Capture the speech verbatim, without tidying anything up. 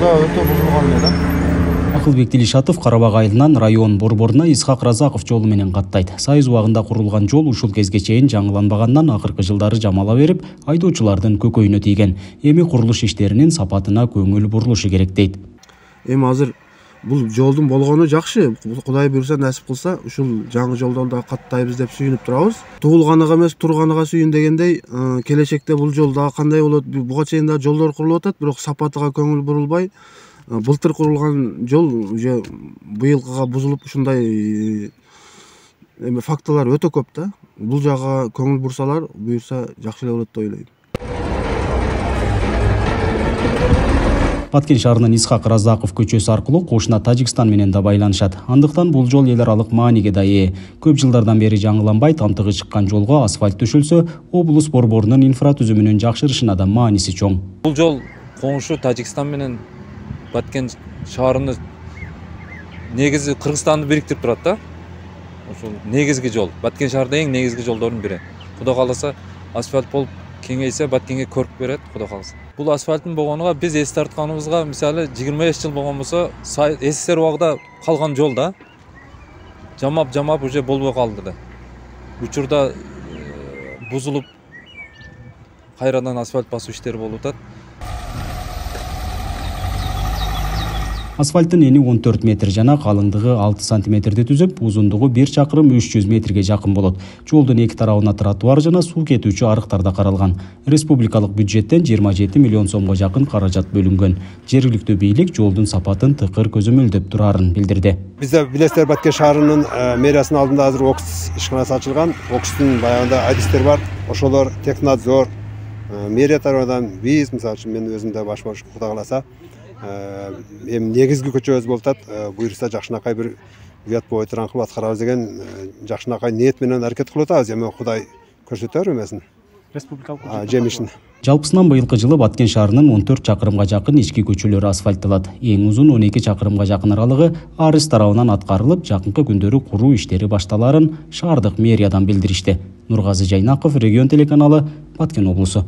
да өтө бузулган эле да. Акылбек Дилишатов Карабак айылынан район борборуна Исхак Разаков жолу менен каттайт. Сайыз убагында курулган жол ушул кезге чейин жаңыланбагандан акыркы жылдары жамала берип, айдоочулардын көкөйүнө тийген. Эми курулуш иштеринин сапатына көңүл бурулушу керек дейт. Эми азыр бул жолдун болгону жакшы. Кудай буйруса, насип кылса, ушул жаңы жолдон да каттайбыз деп сүйүнүп турабыз. Туулганыга эмес, турганыга сүйүн дегендей, келечекте бул жол дагы кандай болот? Буга чейин да жолдор курулуп атат, бирок сапатыга көңүл бурулбай, былтыр курулган жол уже быйылкыга бузулуп ушундай эми фактылар өтө көп да. Бул жагга көңүл бурсалар, буйруса жакшы эле болот деп ойлойм. Баткен шаарынын Исхак Разаков көчөсү аркылуу кошуна Тажикстан менен да байланышат. Андыктан бул жол эл аралык мааниге да ээ. Көп жылдардан бери жаңыланбай, тамтыгы чыккан жолго асфальт төшөлсө, облус борборунун инфратүзүмүнүн жакшырышына да мааниси чоң. Бул жол коңшу Тажикстан менен Баткен шаарыны негизи Кыргызстанды бириктирип турат да. Ошол негизги жол. Баткен шаарда эң негизги жолдордун бири. Кудай кааласа, асфальт болуп кеңейсе, Баткенге көрк берет, кудай кааласа. Бул асфальттын болгонуга биз эс тартканыбызга, мисалы жыйырма беш жыл болгон болсо, СССР убагында калган жол да. Жамап-жамап уже болбой калды да. Учурда бузулуп кайрадан асфальт басуу иштери болуп атат. Асфальттын эни он төрт метр жана калыңдыгы алты сантиметрди түзүп, узундугу бир чакырым үч жүз метрге жакын болот. Жолдун эки тарабына тротуар жана суу кетүүчү арыктар да каралган. Республикалык бюджеттен жыйырма жети миллион сомго жакын каражат бөлүнгөн. Жергиликтүү бийлик жолдун сапатын тыкыр көзөмөлдөп турарын билдирди. Бизде билесиздер, Баткен шаарынын мэриясынын алдында азыр ОКС ишканасы ачылган. ОКСтун баягында адистер бар. Ошолор технадзор, мэрия тарабынан биз, мисалы үчүн мен өзүм да баш болуш кудай кааласа, эми негизги көчөбүз болуп атат. Буйруса жакшынакай бир уят бой тураңкы аткарабыз деген жакшынакай ниет менен аракет кылып атабыз. Эми Кудай көрсөтөр эмесин. Республикалык жемишин. Жалпысынан быйылкы жылы Баткен шаарынын он төрт чакырымга жакын ички көчөлөрү асфальтталат. Эң узун он эки чакырымга жакын аралыгы Арыс тарабынан аткарылып, жакынкы күндөрү куруу иштери башталарын шаардык мэриядан билдиришти. Нургазы Жайнаков, Регион телеканалы, Баткен облусу.